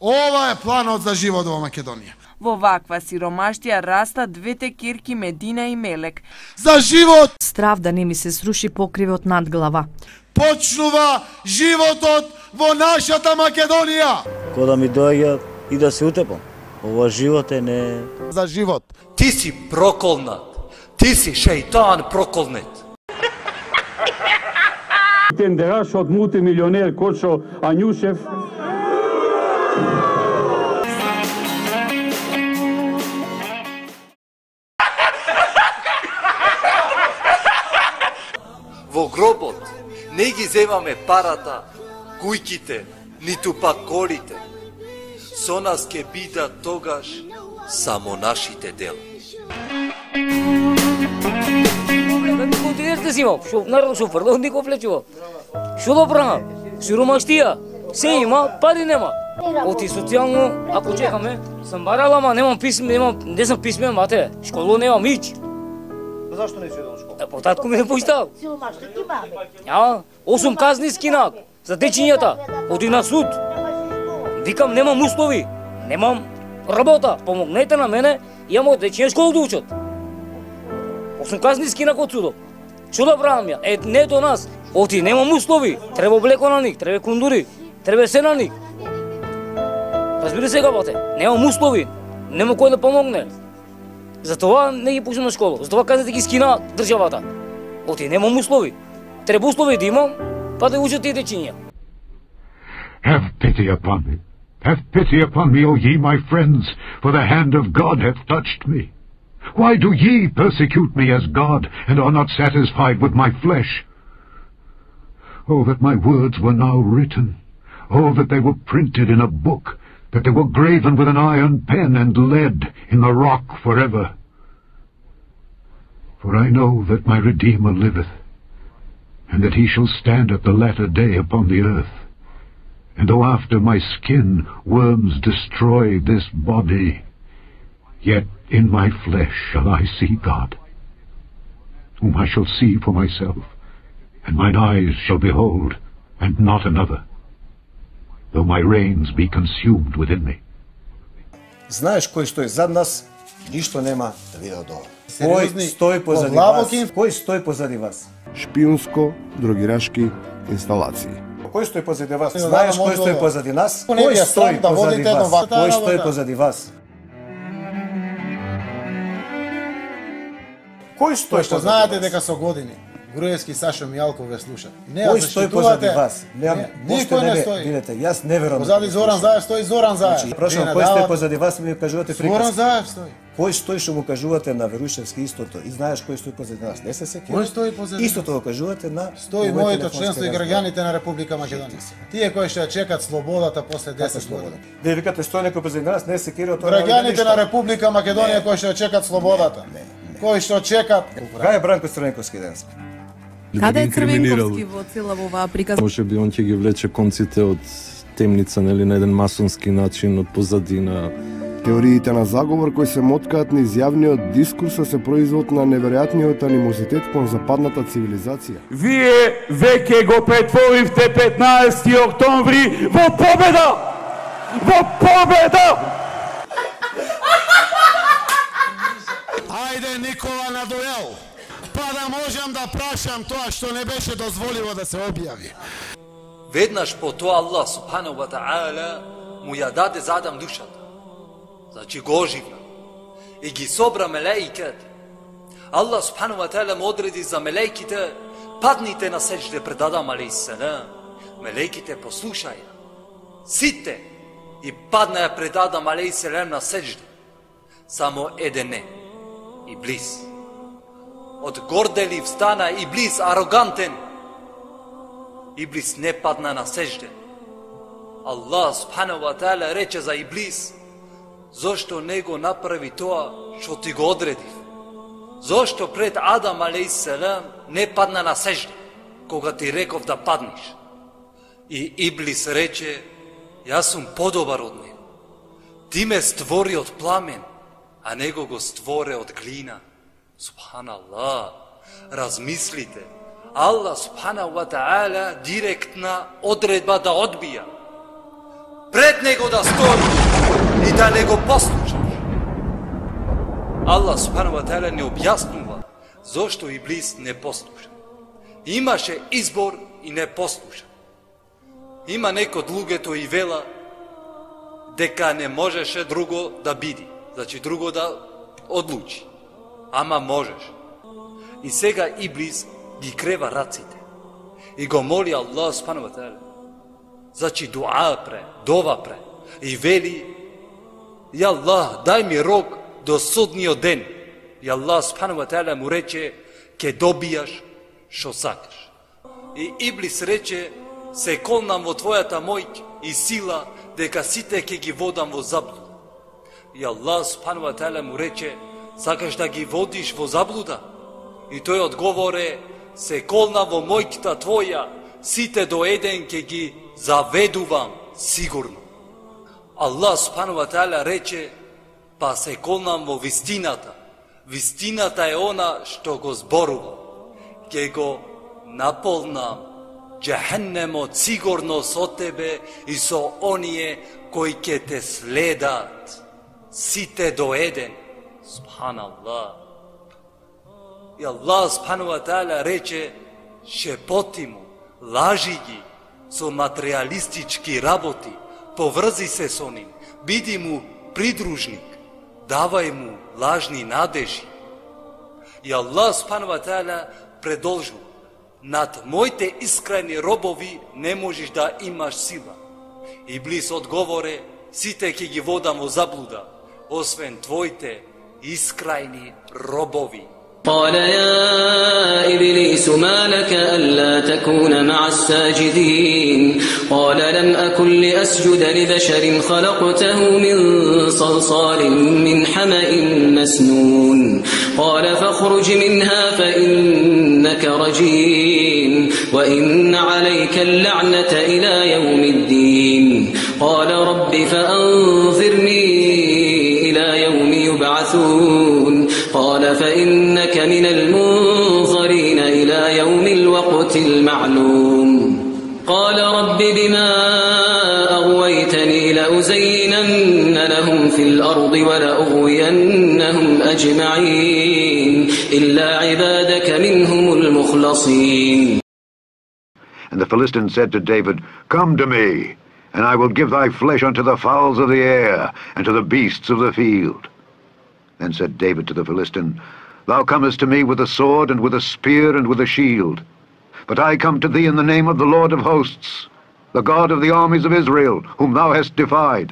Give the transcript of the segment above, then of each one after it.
Ова е планот за живот во Македонија. Во ваква сиромаштија растат двете ќерки Медина и Мелек. За живот! Страв да не ми се сруши покривот над глава. Почнува животот во нашата Македонија. Кога ми доаѓа и да се утепам. Ова живот е не... За живот. Ти си проколнат. Ти си шејтан проколнет. Тендераш од мултимилионер Кочо Ањушев. Во гробот не ги земаме парата, кујките, ниту пак колите. Со нас ке бидат тогаш само нашите дела. Никој дете си имам, наравно шо фрло, никој влечува. Шо да правам? Сиромаштија, се има, пари нема. Оти социјално, ако чекаме, сам барала, ама немам писме, не сум писмен, мате, школо немам ич. Зашто не си одел школа? По татко ми не поштал. 8 казни скинат за дечињата, оди на суд. Викам, немам услови, немам работа, помогнете на мене, имам дечиња школа да учат. 8 казни скинак од судот. Што да правам ја? Не до нас. Оти, немам услови, треба облеко на них, треба кундури, треба се на них. Разбери сега, бате, немам услови, нема кој да помогне. Затова не ги пуштам на школа, затова казните ги скина државата. Оти, немам услови. Треба услови да имам, па да учат тие дечиња. Have pity upon me. Have pity upon me, O ye my friends, for the hand of God hath touched me. Why do ye persecute me as God, and are not satisfied with my flesh? Oh, that my words were now written. Oh, that they were printed in a book, that they were graven with an iron pen and lead in the rock forever. For I know that my Redeemer liveth, and that he shall stand at the latter day upon the earth. And though after my skin worms destroy this body, yet in my flesh shall I see God, whom I shall see for myself, and mine eyes shall behold, and not another, though my reins be consumed within me. Знаеш кој стои зад нас, ништо нема да види од ова. Кој стои позади вас? Кој стои позади вас? Шпиунско-дрогирашки инсталации. Кој стои позади вас? Знаеш кој стои позади нас? Кој стои позади вас? Кој стои позади вас? Кој стои Што знаете дека со години Груевски Сашо Мијалков ве слуша. Кој стои позади вас? Никој не стои. Видете, јас не верувам. Позади Зоран Заев стои Зоран Заев. Прашувам, кој стои позади вас, ми кажувате приказки. Зоран Заев стои. Кој стои што му кажувате на Верушевски истото и знаеш кој стои позади нас? Не се сеќаваш. Кој стои позади нас? Истото го кажувате на стои моето членство и граѓаните на Република Македонија. Тие кои што ја чекат слободата после 10 години. Вие викате стои некој позади нас, не се кира тоа. Граѓаните на Република Македонија кои што ја чекат слободата. Кои што чекат. Кај е Бранко Црвенковски денес? Каде е Црвенковски во цела оваа приказна? Може би он ќе ги влече конците од темница, нели, на еден масонски начин, од позадина. Теориите на заговор кои се моткаат низ јавниот дискурс се производ на неверојатниот анимозитет кон западната цивилизација. Вие веќе го претворивте 15 октомври во победа! Во победа! Ајде Никола на дуел, па да можам да прашам тоа што не беше дозволиво да се објави. Веднаш по тоа Аллах субханаху ва таала му ја даде за Адам душата. Значи го оживна. И ги собра мелеиките. Аллах субханаху ва таала му одреди за мелеиките, падните на сеџде пред Адам алейхиссалам. Мелеиките послушаја. Сите и паднаја пред Адам алейхиссалам на сеџде. Само еден не. Иблис. Од горделив стана Иблис арогантен. Иблис не падна на сеџде. Аллах субханаху ва таала рече за Иблис: зошто не го направи тоа што ти го одредив? Зошто пред Адам алейхиссалам не падна на сеџде, кога ти реков да паднеш? И Иблис рече: јас сум подобар од него. Ти ме створи од пламен, а него го створе од глина. Субханаллах, размислите. Аллах субханаху ва таала директна одредба да одбија. пред него да стои и да не го послушаш. Аллах субхану ва таала не објаснува зошто Иблис не послуша. Имаше избор и не послуша. Има некои од луѓето и вела дека не можеше друго да биде, значи друго да одлучи. Ама можеш. И сега Иблис ги крева раците и го моли Аллах субхану ва таала. Значи дуа пре, дова пре и вели: "Ја Аллах, дај ми рок до судниот ден." И Аллах субхану ва таала му рече: "Ке добијаш што сакаш." И Иблис рече: "Се колнам во твојата моќ и сила дека сите ќе ги водам во заблуда." И Аллах субхану ва таала му рече: "Сакаш да ги водиш во заблуда?" И тој одговоре: "Се колнам во моќта твоја, сите до еден ќе ги заведувам сигурно." Аллах субхану ва таала рече: "Па се колнам во вистината. Вистината е она што го зборувам. Ке го наполнам џехенемот сигурно со тебе и со оние кои ќе те следат. Сите до еден." Субханаллах. И Аллах субхану ва таала рече: "Шепоти му, лажи ги со материјалистички работи, поврзи се со ним, биди му придружник, давај му лажни надежи." И Аллах субхану ва таала продолжува: "Над моите искрени робови не можеш да имаш сила." Иблис одговоре: "Сите ќе ги водам во заблуда, освен твоите искрени робови." قال يا إبليس ما لك ألا تكون مع الساجدين قال لم أكن لأسجد لبشر خلقته من صلصال من حمأ مسنون قال فاخرج منها فإنك رجيم وإن عليك اللعنة إلى يوم الدين قال رب فأنظرني إلى يوم يبعثون قال فإنك من المنظرين إلى يوم الوقت المعلوم قال رب بما أغويتني لأزينن لهم في الأرض ولأغوينهم أجمعين إلا عبادك منهم المخلصين. And the Philistine said to David, "Come to me, and I will give thy flesh unto the fowls of the air, and to the beasts of the field." Then said David to the Philistine, "Thou comest to me with a sword, and with a spear, and with a shield. But I come to thee in the name of the Lord of hosts, the God of the armies of Israel, whom thou hast defied.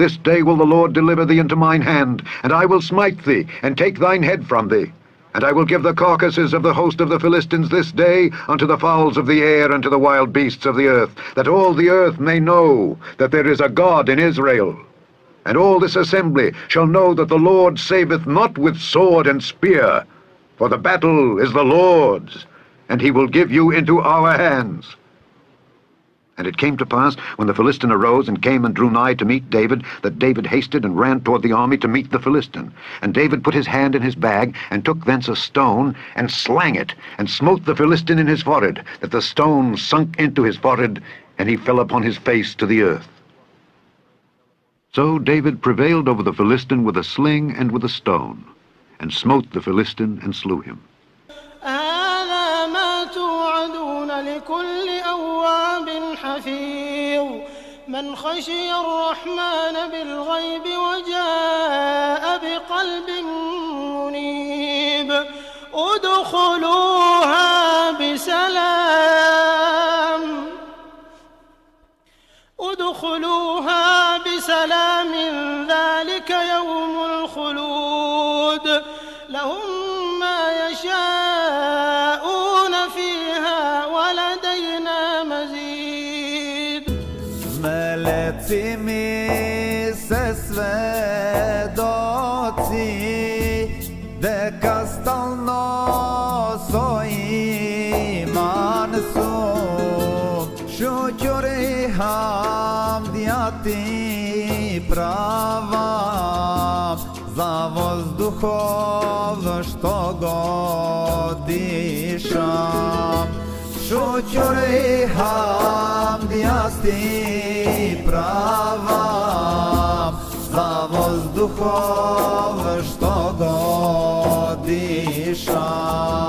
This day will the Lord deliver thee into mine hand, and I will smite thee, and take thine head from thee. And I will give the carcasses of the host of the Philistines this day unto the fowls of the air and to the wild beasts of the earth, that all the earth may know that there is a God in Israel. And all this assembly shall know that the Lord saveth not with sword and spear, for the battle is the Lord's, and he will give you into our hands." And it came to pass, when the Philistine arose and came and drew nigh to meet David, that David hasted and ran toward the army to meet the Philistine. And David put his hand in his bag, and took thence a stone, and slang it, and smote the Philistine in his forehead, that the stone sunk into his forehead, and he fell upon his face to the earth. So David prevailed over the Philistine with a sling and with a stone, and smote the Philistine and slew him. هذا ما توعدون لكل أواب حفيظ من خشي الرحمن بالغيب وجاء بقلب منيب ادخلوها بسلام ذلك يوم الخلود لهم ما يشاءون فيها ولدينا مزيد. Meleci mi se svedoci deka stalno iman su šućuri hamdijati prava za vazduhov što god dišam. Žućure hamdijasti prava za vazduhove što dodišam.